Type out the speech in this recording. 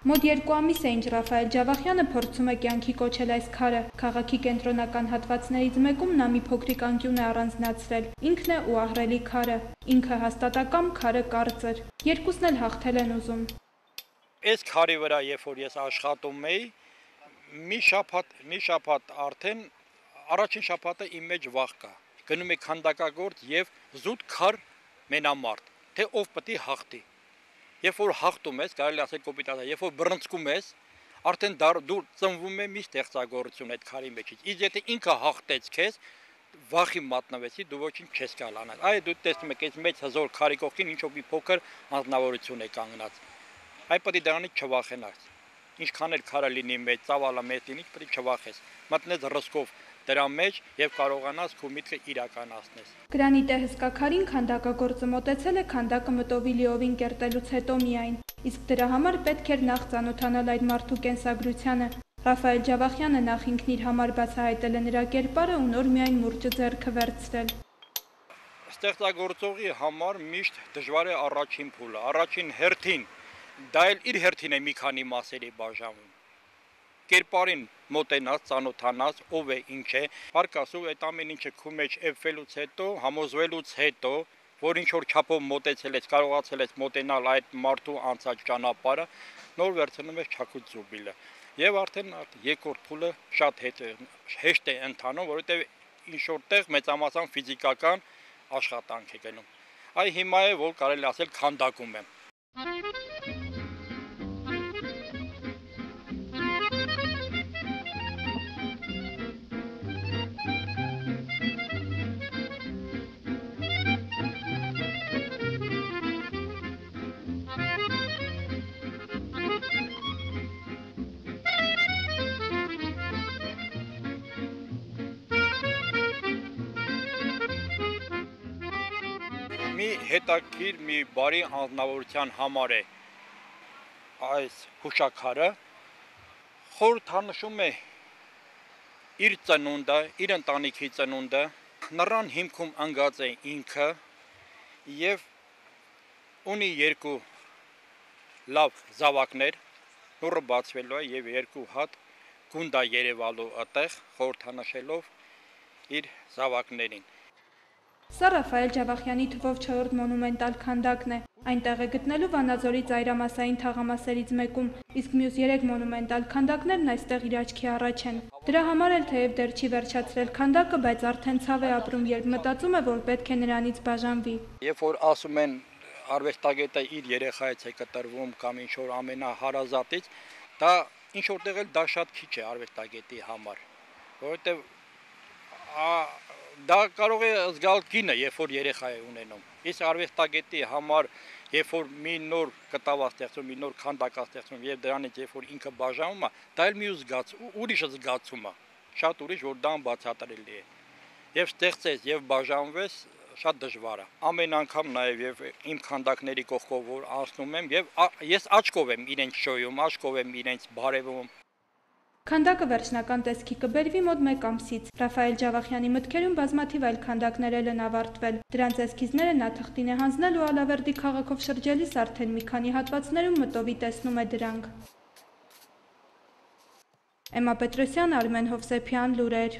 Մոտ 2 ամիս է ինչ Ռաֆայել Ջավախյանը փորձում է կյանքի կոչել այս քարը։ Քաղաքի կենտրոնական հատվածներից մեկում նա մի փոքրիկ անկյուն է առանձնացրել։ Ինքն է ու ահռելի քարը։ Ինքը հաստատակամ, քարը կարծր։ Երկուսն էլ հաղթել են ուզում։ Այս քարի վրա, երբ որ ես աշխատում էի, մի շաբաթ արդեն առաջին շաբաթը իմ մեջ վախ կա։ Գնում եք քանդակագործ եւ զուտ քար մենամարտ, թե ով պետք է հաղթի։ Երբ որ հաղթում ես, կարելի ասել կոպիտացա, երբ որ բռնցքում ես, արդեն դու ծնվում է մի ստեղծագործություն այդ քարի մեջից։ Իսկ եթե ինքը հաղթեց քեզ, վախի մատնվեցի, դու ոչինչ չես կարող անել։ Այ դու տեսնում ես, այս մեծ հզոր քարի կողքին ինչ-որ մի փոքր անձնավորություն է կանգնած։ Այ պետք է դրանից չվախենաս։ Ինչքան էլ քարը լինի մեծ, ծավալը մեծ լինի, պետք է չվախես։ Մտնես ռիսկով դրա մեջ եւ կարողանաս քո միտքը իրականացնես։ Գրանիտե հսկա քարին քանդակագործը մոտեցել է քանդակը մտովի լիովին կերտելուց հետո միայն, իսկ դրա համար պետք էր նախ ծանոթանալ այդ մարդու կենսագրությանը։ Ռաֆայել Ջավախյանը նախ ինքն իր համար բացահայտել է նրա կերպարը ու նոր միայն մուրճը ձեռքը վերցրել։ Ստեղծագործողի համար միշտ դժվար է առաջին փուլը, առաջին հերթին, դա էլ իր հերթին է մի քանի մասերի բաժանում։ Կերպարին մոտենաս, ծանոթանաս, ով է, ինչ է, հարկ ասում այդ ամեն ինչը քո մեջ էփվելուց հետո, համոզվելուց հետո, որ ինչ որ չափով մոտեցել ես, կարողացել ես մոտենալ այդ մարդու անցած ճանապարհը, նոր վերցնում ես չակուց զուբիլը։ Եվ արդեն երկրորդ փուլը շատ հեշտ է ընթանում, որովհետև ինչ որտեղ մեծամասամբ ֆիզիկական աշխատանք է գնում։ Այ հիմա է, որ կարելի ասել քանդակում եմ։ Մի հետաքրքիր, մի բարի անձնավորության համար է այս հուշաքարը, խորհրդանշում է իր ծնունդը, իր ընտանիքի ծնունդը, նրան հիմքում ընկած է ինքը եւ ունի երկու լավ զավակներ, նորը բացվելու է եւ երկու հատ գունդա երևալու այդտեղ խորհրդանշելով իր զավակներին։ Սա Ռաֆայել Ջավախյանի թվով 4-րդ մոնումենտալ քանդակն է։ Այնտեղ է գտնելու Վանաձորի ծայրամասային թաղամասերից մեկում, իսկ մյուս 3 մոնումենտալ քանդակներն այստեղ իր աչքի առաջ են։ Դրա համար էլ թեև դեռ չի վերջացրել քանդակը, բայց արդեն ցավ է ապրում, երբ մտածում է, որ պետք է նրանից բաժանվի։ Երբ որ ասում են արվեստագետը իր երեխայից է կտրվում կամ ինչ որ ամենահարազատից, դա ինչ որտեղ էլ դա շատ քիչ է արվեստագետի համար, որովհետև դա կարող է զգալ կինը, երբ որ երեխա է ունենում։ Իսկ արվեստագետի համար, երբ որ մի նոր կտավ ստեղծում, մի նոր քանդակ ստեղծում եւ դրանից երբ որ ինքը բաժանում է, դա էլ մի ուրիշ զգացում է, շատ ուրիշ, որ դա անբացատրելի է։ Եվ ստեղծես եւ բաժանվես շատ դժվար է։ Ամեն անգամ նաեւ իմ քանդակների կողքով որ անցնում եմ եւ ես աչքով եմ իրենց շոյում, աչքով եմ իրենց բարևում։ Քանդակը վերջնական տեսքի կբերվի մոտ 1 ամսից։ Ռաֆայել Ջավախյանի մտքերում բազմաթիվ այլ քանդակներ են ավարտվել։ Դրանց էսքիզները նա թղթին է հանձնել ու Ալավերդի քաղաքով շրջելիս արդեն մի քանի հատվածներում մտովի տեսնում է դրանք։ Էմմա Պետրոսյան, Արմեն Հովսեփյան, լուրեր։